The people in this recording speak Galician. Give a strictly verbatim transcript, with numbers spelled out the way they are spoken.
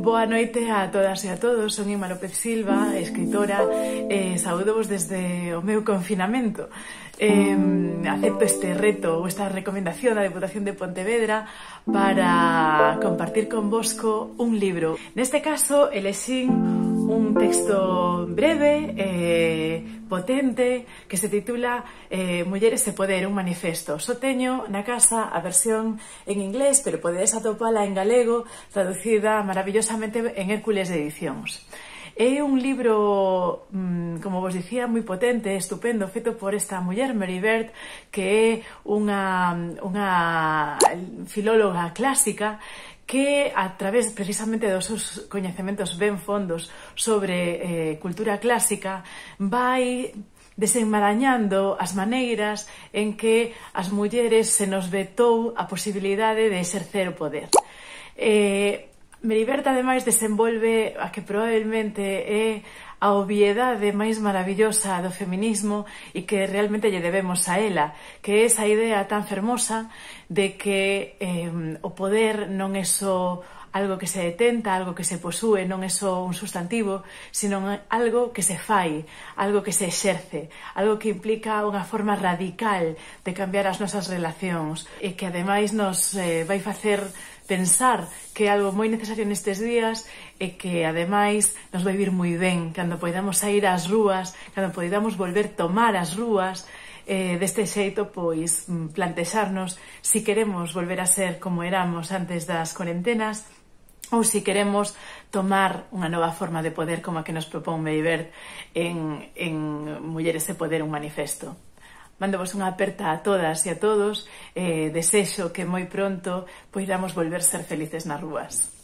Boa noite a todas e a todos, son Ima López Silva, escritora, e saúdovos desde o meu confinamento. Eh, acepto este reto ou esta recomendación da Deputación de Pontevedra para compartir convosco un libro. Neste caso, elexín un texto breve, eh, potente, que se titula eh, Mulleres e Poder, un manifesto. Só teño na casa a versión en inglés, pero podedes atopala en galego, traducida maravillosamente en Hércules de Edicións. É un libro, como vos dicía, moi potente, estupendo, feito por esta muller, Mary Beard, que é unha, unha filóloga clásica que, a través precisamente dos seus coñecementos ben fondos sobre eh, cultura clásica, vai desenmarañando as maneiras en que as mulleres se nos vetou a posibilidade de exercer o poder. Eh, Mary Beard, ademais, desenvolve a que probablemente é a obviedade máis maravillosa do feminismo e que realmente lle debemos a ela, que é esa idea tan fermosa de que eh, o poder non é só algo que se detenta, algo que se posúe, non é só un sustantivo, sino algo que se fai, algo que se exerce, algo que implica unha forma radical de cambiar as nosas relacións e que ademais nos eh, vai facer pensar que é algo moi necesario nestes días e que ademais nos vai vir moi ben cando poidamos sair ás rúas, cando poidamos volver tomar as rúas. Eh, deste xeito, pois, plantexarnos si queremos volver a ser como éramos antes das cuarentenas ou si queremos tomar unha nova forma de poder como a que nos propón Mary Beard en, en Mulleres e Poder, un manifesto. Mándovos unha aperta a todas e a todos, eh, desexo que moi pronto poidamos volver ser felices nas rúas.